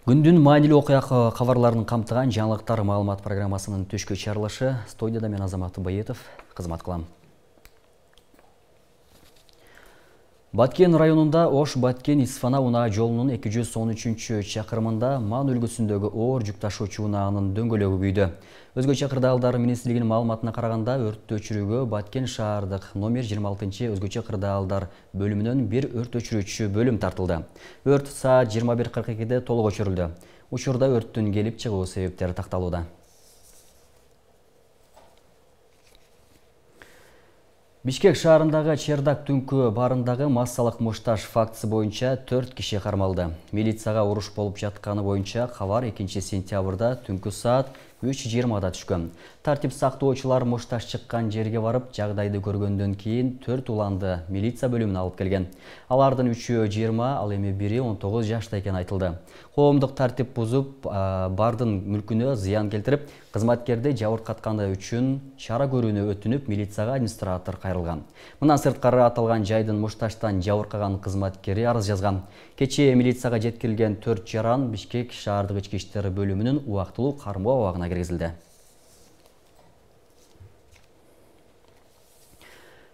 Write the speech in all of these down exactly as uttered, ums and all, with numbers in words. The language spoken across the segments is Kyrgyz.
Күндүн маанилүү окуя кабарларын камтыган жаңылыктар маалымат программасынын түшкү чыгарылышы. Студияда мен Азамат Байетов кызмат кылам. Баткен районунда Ош-Баткен-Исфана унаа жолунун эки жүз он үчүнчү чакырымында Ман өлкөсүндөгү оор жүк ташуучу унаанын дөңгөлөгү күйдү. Өзгөчө кырдаалдар министрлигинин маалыматына караганда, өрттү өчүрүүгө Баткен шаардык номер жыйырма алтынчы өзгөчө кырдаалдар бөлүмүнөн бир өрт өчүрүүчү бөлүм тартылды. Өрт саат жыйырма бир кырк экиде толук өчүрүлдү. Учурда өрттүн келип чыгуу себептери такталууда. Бишкек шаарындагы Чердак түнкү баарындагы массалык мушташ фактысы боюнча төрт киши кармалды. Милицияга уруш болуп жатканы боюнча кабар экинчи сентябрда түнкү саат үч жыйырмада түшкөн. Тартип сактоочулар мушташ чыккан жерге барып, жагдайды көргөндөн кийин төрт уланды милиция бөлүмүнө алып келген. Алардын үчөө жыйырма, ал эми бири он тогуз жашта экени айтылды. Коомдук тартип бузуп, бардын мүлкүнө зыян келтирип, кызматкерди жабыркатканы үчүн чара көрүүнү өтүнүп, милицияга администратор кайрылган. Мындан сырткары аталган жайдын мушташтан жабыркаган кызматкери арыз жазган. Кечээ милицияга жеткирилген төрт жаран Бишкек шаардык ички иштер бөлүмүнүн убактылуу кармоо абагына киргизилди.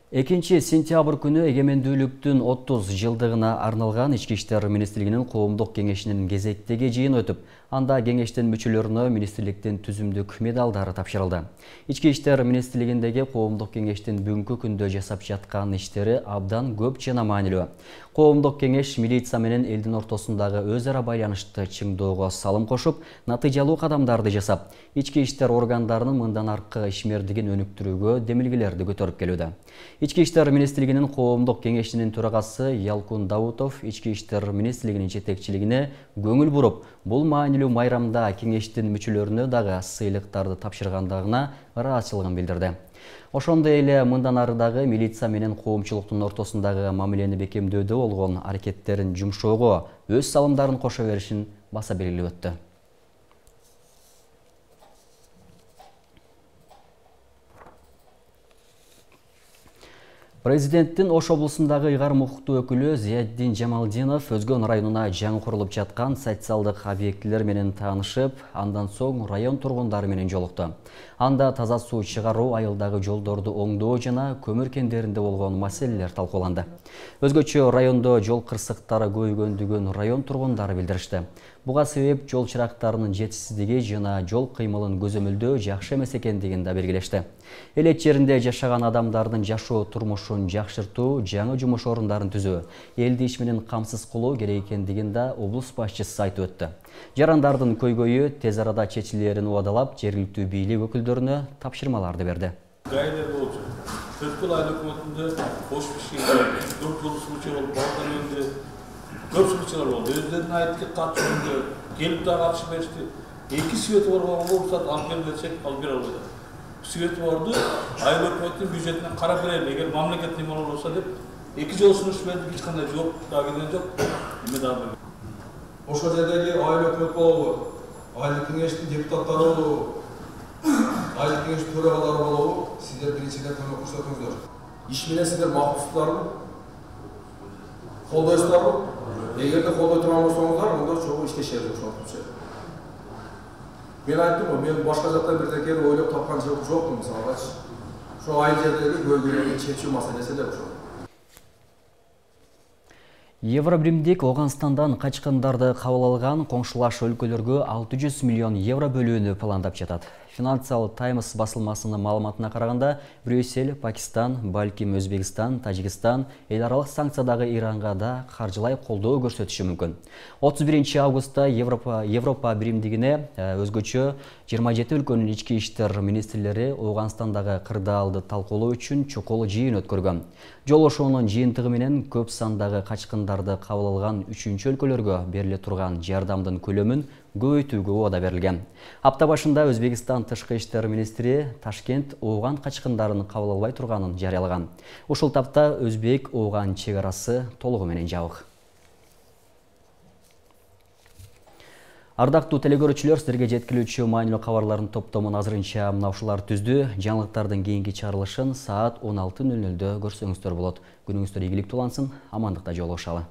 экинчи сентябрь күнү эгемендүүлүктүн отуз жылдыгына арналган Ички иштер министрлигинин коомдук кеңешинин кезектеги жыйыны өтүп, анда кеңештин мүчөлөрүнө министрликтин түзүмдүк медалдары тапшырылды. Ички иштер министрлигиндеги коомдук кеңештин бүгүнкү күндө жасап жаткан иштери абдан көп жана маанилүү. Коомдук кеңеш милиция менен элдин ортосундагы өз ара байланышты чыңдоого салым кошуп, натыйжалуу кадамдарды жасап, ички иштер органдарынын мындан аркы ишмердигин өнүктүрүүгө демилгелерди көтөрүп келүүдө. Ички иштер министрлигинин коомдук кеңешинин төрагасы Ялкун Даутов Ички иштер министрлигинин жетекчилигине көңүл буруп, бул маанилүү майрамда кеңештин мүчөлөрүнө дагы сыйлыктарды тапшыргандыгына ыраазычылыгын билдирди. Ошондой эле мындан ары дагы милиция менен коомчулуктун ортосундагы мамилени бекемдөөдө болгон аракеттерин жумшоого өз салымдарын кошо беришин баса белгилеп өттү. Президенттин Ош облусундагы ыйгар мукуктуу өкүлү Зияддин Жамалдинов Өзгөн районуна жаңы курулуп жаткан социалдык объектилер менен таанышып, андан соң район тургундары менен жолукту. Анда таза суу чыгаруу, айылдагы жолдорду оңдоо жана көмүр кендеринде болгон маселелер талкууланды. Өзгөчө райондо жол кырсыктары көбөйгөндүгүн район тургундары билдиришти. Буга себеп жол чырактарынын жетишсиздиги жана жол кыймылын көзөмөлдөө жакшы эмес экендигин да белгилешти. Элет жеринде жашаган адамдардын жашоо турмушун жакшыртуу, жаңы жумуш орундарын түзүү, элди иш менен камсыз кылуу керек экендигин да облус башчысы айтып өттү. Жарандардын көйгөйү тез арада чечилерин убадалап, жергиликтүү бийлик өкүлдөрүнө тапшырмаларды берди. Гайлер болчу. Төрткүл айыл өкмөтүндө Ош Бишкекте төрт жыл случай болуп, балдар үйүндө көп случайлар болду. Өздөрүнүн айтып катышууда келип да катышып беришти. Эки свети бар болгонго уруксат алып бер десек, алып бере албайт. Свети барды айыл өкмөттүн бюджетинен карап берели, эгер мамлекет неме болсо деп эки жол сунуш бердик, эч кандай жооп да келген жок. Эме дагы ошол жердеги айыл өкмөт болобу, айыл кеңештин депутаттары болобу, айыл кеңештин төрагалары болобу, сиздер биринчиден көмөк көрсөтүңүздөр. Иш менен сиздер максаттарбы, колдойсуздарбы? Эгерде колдой турган болсоңуздар, онда чогуу иштешебиз ошентипчи. Мен айттым го, мен башка жактан бирдекени ойлоп тапкан жокмун, мисалгачы. Ошо айыл жердеги көйгөйлөрдү чечүү маселеси эле ошол. Евробиримдик Оганстандан качкындарды кабыл алган коңшулаш өлкөлөргө алты жүз миллион евро бөлүүнү пландап жатат. Financial Times басылмасынын маалыматына караганда, Брюссель, Пакистан, балким Өзбекстан, Тажикстан эл аралык санкциядагы Иранга да каржылай колдоо көрсөтүшү мүмкүн. отуз биринчи августта Европа Европа биримдигине өзгөчө жыйырма жети өлкөнүн ички иштер министрлери Оганстандагы кырдаалды талкуулоо үчүн чокол жыйын өткөргөн. Жолошуунун жыйынтыгы менен көп сандагы качкындарды кабыл алган үчүнчү өлкөлөргө бериле турган жардамдын көлөмүн көбөйтүүгө убада берилген. Апта башында Өзбекстан тышкы иштер министри Ташкент ооган качкындарын кабыл албай турганын жарыялаган. Ушул тапта Өзбек ооган чек арасы толугу менен жабык. Ардактуу телекөрүүчүлөр, сиздерге жеткирүүчү маанилүү кабарлардын топтомун азырынча мына ушулар түздү. Жаңылыктардын кийинки чыгарылышын саат он алты нөл нөлдө көрсөңүздөр болот. Күнүңүздөр ийгиликтүү улансын, амандыкта жолугушалы.